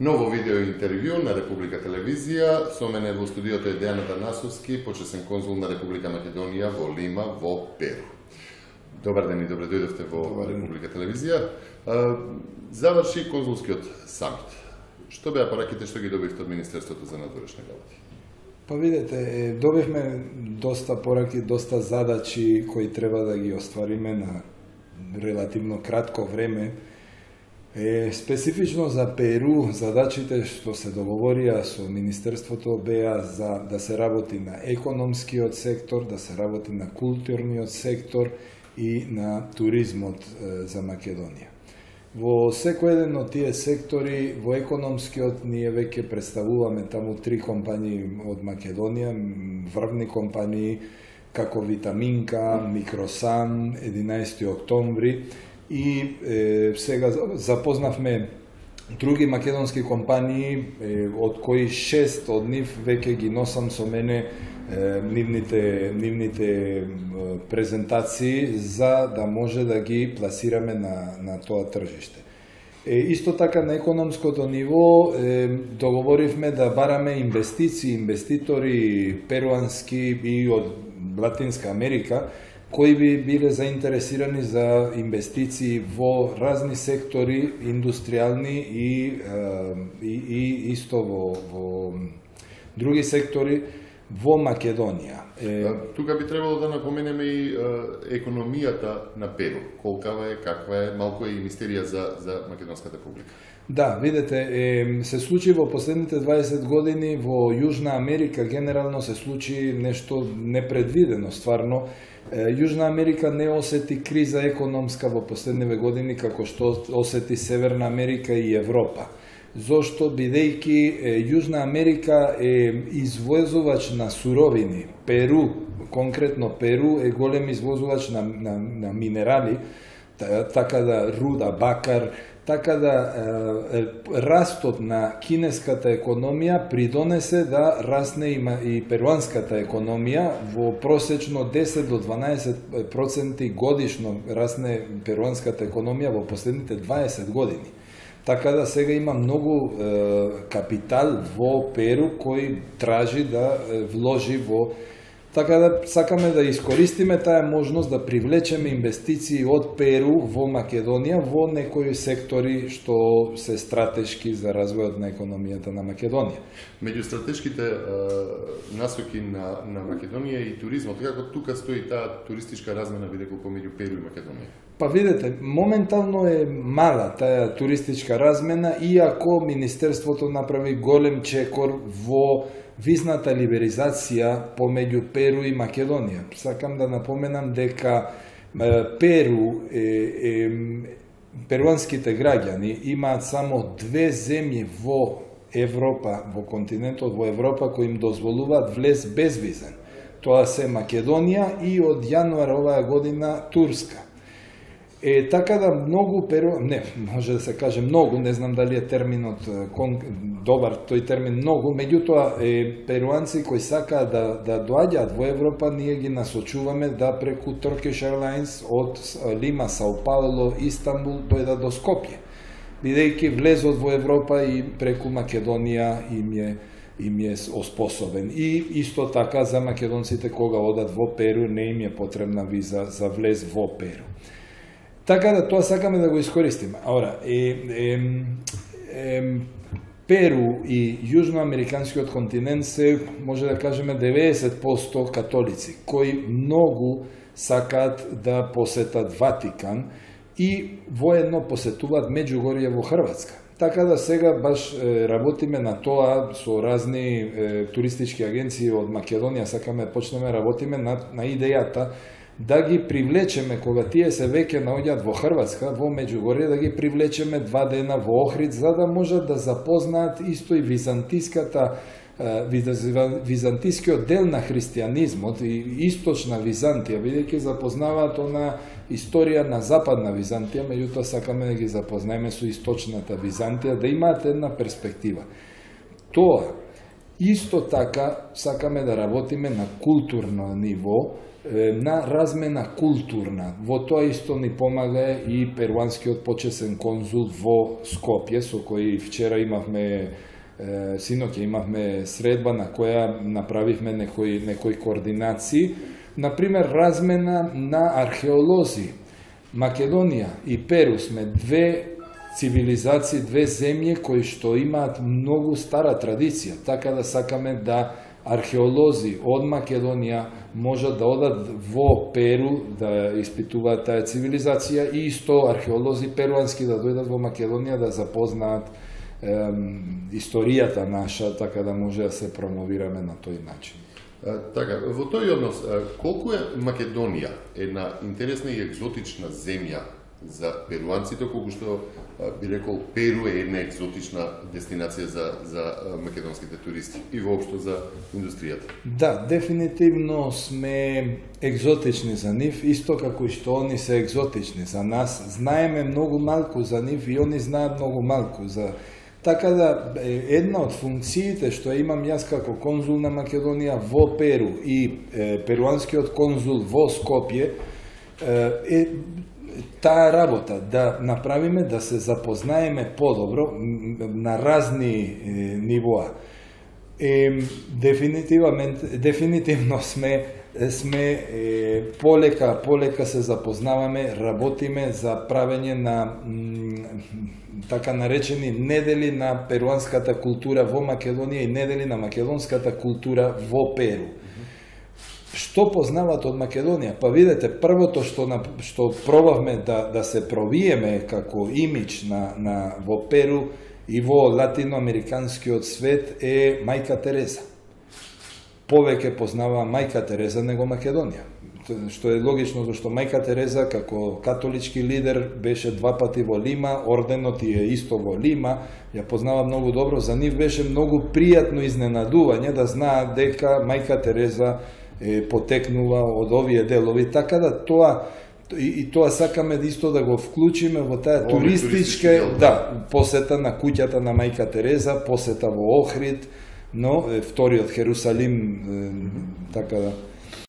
Ново видео интервју на Република Телевизија. Со мене во студиото е Дејан Атанасовски, почесен конзул на Република Македонија во Лима, во Перу. Добар ден и добре дојдовте во Република Телевизија. Заврши конзулскиот самит. Што беа пораките што ги добивте од Министерството за надворешни работи? Па видете, добивме доста пораки, доста задачи кои треба да ги оствариме на релативно кратко време. Специфично за Перу, задачите што се договорија со Министерството беа за да се работи на економскиот сектор, да се работи на културниот сектор и на туризмот за Македонија. Во секој еден од тие сектори, во економскиот, ние веќе представуваме таму 3 компании од Македонија, врвни компании како Витаминка, Микросан, 11 октомври, и сега запознавме други македонски компании, од кои 6 од нив веќе ги носам со мене нивните презентации за да може да ги пласираме на тоа тржиште. Исто така на економското ниво договоривме да бараме инвеститори перуански и од Латинска Америка, кои би биле заинтересирани за инвестиции во разни сектори, индустријални и исто во други сектори во Македонија. Тука би требало да напоменеме и економијата на Перу. Колкава е, каква е, малку е и мистерија за Македонската публика. Да, видете, се случи во последните 20 години во Јужна Америка, генерално се случи нешто непредвидено, стварно. Јужна Америка не осети криза економска во последниве години како што осети Северна Америка и Европа. Зошто, бидејќи Јужна Америка е извозувач на суровини. Перу, конкретно Перу, е голем извозувач на минерали, така да руда, бакар, така да растот на кинеската економија придонесе да расне и перуанската економија. Во просечно 10 до 12% годишно расне перуанската економија во последните 20 години. Така да сега има многу капитал во Перу кој тражи да вложи во. Така да сакаме да искористиме таа можност да привлечеме инвестиции од Перу во Македонија во некои сектори што се стратешки за развојот на економијата на Македонија. Меѓу стратешките насоки на Македонија и туризмот, како тука стои таа туристичка размена бидејќи помеѓу Перу и Македонија? Па видете, моментално е мала таа туристичка размена, иако Министерството направи голем чекор во визната либерализација помеѓу Перу и Македонија. Сакам да напоменам дека перуанските граѓани имаат само 2 земји во Европа, во континентот во Европа, кои им дозволуваат влез безвизен. Тоа се Македонија и од јануар оваа година Турска. Така да многу може да се каже многу, не знам дали е терминот добар, тој термин многу, меѓутоа перуанци кои сакаат да доаѓаат во Европа, ние ги насочуваме да преку Turkish Airlines од Лима, Сао Пауло, Истанбул дојдат до Скопје, бидејќи влезот во Европа и преку Македонија им е оспособен. И исто така за македонците кога одат во Перу не им е потребна виза за влез во Перу. Така да тоа сакаме да го искористиме. Перу и јужноамериканскиот континент се, може да кажеме, 90% католици, кои многу сакаат да посетат Ватикан и воедно посетуваат Меѓугорје во Хрватска. Така да сега баш работиме на тоа со разни туристички агенции од Македонија, сакаме почнеме работиме на идејата да ги привлечеме, кога тие се веќе наоѓаат во Хрватска, во Меѓугорје, да ги привлечеме 2 дена во Охрид, за да можат да запознаат исто и византискиот дел на христијанизмот и источна Византија, бидејќи запознаваат она историја на западна Византија, меѓутоа сакаме да ги запознаеме со источната Византија, да имаат една перспектива. Тоа Исто така сакаме да работиме на културно ниво, на размена културна. Во тоа исто ни помага и перуанскиот почесен конзул во Скопје, со кој вчера имавме, синоќа имавме средба на која направивме некои координации. Например, размена на археолози. Македонија и Перу сме две цивилизации, две земји кои што имаат многу стара традиција, така да сакаме да археолози од Македонија можат да одат во Перу да испитуваат таа цивилизација и исто археолози перуански да дојдат во Македонија да запознаат историјата наша, така да може да се промовираме на тој начин. Така, во тој однос, колку е Македонија една интересна и екзотична земја за перуанците, колку што би рекол Перу е една екзотична дестинација за македонските туристи и воопшто за индустријата? Да, дефинитивно сме екзотични за нив, исто како и што они се екзотични за нас. Знаеме многу малку за нив и они знаат многу малку за... Така да, една од функциите што имам јас како конзул на Македонија во Перу и перуанскиот конзул во Скопје е таа работа, да направиме да се запознаеме подобро на разни нивоа. Дефинитивно сме полека се запознаваме, работиме за правење на така наречени недели на перуанската култура во Македонија и недели на македонската култура во Перу. Што познават од Македонија? Па видете, првото што пробавме да се провиеме како имидж во Перу и во латиноамериканскиот свет е Мајка Тереза. Повеќе познава Мајка Тереза него Македонија. Што е логично, зашто Мајка Тереза како католички лидер беше 2 пати во Лима, орденот е исто во Лима, ја познава многу добро, за нив беше многу пријатно изненадување да знаат дека Мајка Тереза потекнува од овие делови, така да тоа сакаме исто да го вклучиме во таа туристичка посета на куќата на Мајка Тереза, посета во Охрид, но вториот Херусалим, така да